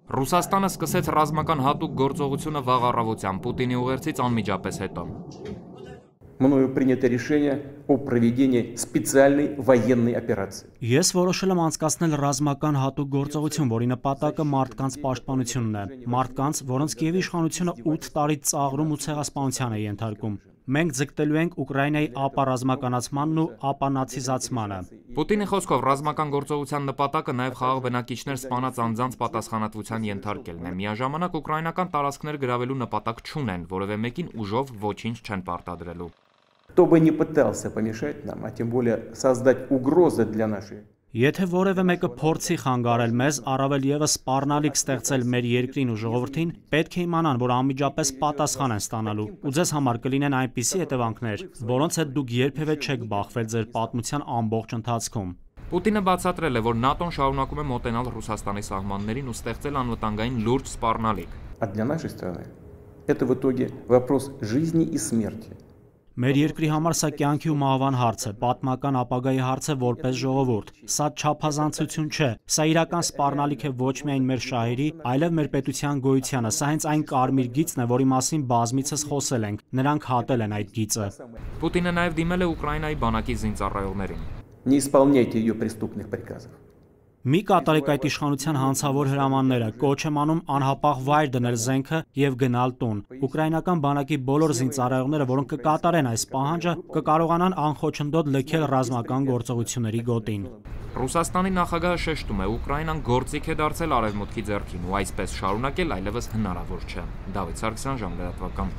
Ռուսաստանը սկսեց ռազմական հատուկ գործողությունը վաղ առավոտյան Պուտինի ուղերձից անմիջապես հետո։ Мною принято решение о проведении специальной военной операции. Ես որոշել եմ անցկացնել ռազմական հատուկ գործողություն, որի նպատակը մարդկանց պաշտպանությունն է, մարդկանց, որոնց Կիևի իշխանությունը 8 տարի ծաղրում ու ցեղասպանության է ենթարկում։ Մենք ձգտելու ենք Ուկրաինայի ապառազմականացմանն ու ապանացիզացմանը։ Պուտինի խոսքով ռազմական գործողության նպատակը նաև խաղաղ բնակիչներ սպանած անձանց պատասխանատվության ենթարկելն է։ Միաժամանակ ուկրաինական տարածքներ գրավելու նպատակ չունեն, որևէ մեկին ուժով ոչինչ չեն պարտադրելու։ Кто бы ни пытался помешать нам, а тем более создать угрозы для нашей. Եթե որևէ մեկը փորձի խանգարել մեզ, առավել եւս սպառնալիք ստեղծել մեր երկրին ու ժողովրդին, պետք է իմանան, որ անմիջապես պատասխան են ստանալու, ու ձեզ համար կլինեն այնպիսի հետևանքներ, որոնց հետ դուք երբևէ չեք բախվել ձեր պատմության ամբողջ ընթացքում։ Պուտինը բացատրել է, որ ՆԱՏՕ-ն շարունակում է մոտենալ Ռուսաստանի սահմաններին ու ստեղծել անվտանգային լուրջ սպառնալիք։ А для нашей страны это в итоге вопрос жизни и смерти. Մեր երկրի համար սա կյանքի ու մահվան հարց է, պատմական ապագայի հարց է որպես ժողովուրդ։ Սա չափազանցություն չէ, սա իրական սպառնալիք է ոչ միայն մեր շահերի, այլև մեր պետության գոյությանը։ Սա հենց այն կարմիր գիծն է, որի մասին բազմիցս խոսել ենք։ Նրանք հատել են այդ գիծը։ Պուտինը նաև դիմել է Ուկրաինայի բանակի զինծառայողներին։ Не исполняйте ее преступных приказов. Մի կատարեք այդ իշխանության հանցավոր հրամանները, կոչ եմ անում անհապաղ վայր դնել զենքը եւ գնալ տուն։ Ուկրաինական բանակի բոլոր զինծառայողները, որոնք կկատարեն այս պահանջը, կկարողանան անխոչնդոտ լքել ռազմական գործողությունների գոտին։ Ռուսաստանի նախագահը շեշտում է, Ուկրաինան գործիք է դարձել արևմուտքի ձեռքին ու այսպես շարունակել այլևս հնարավոր չէ։ Դավիթ Սարգսյան, Ժամանակ լրատվական։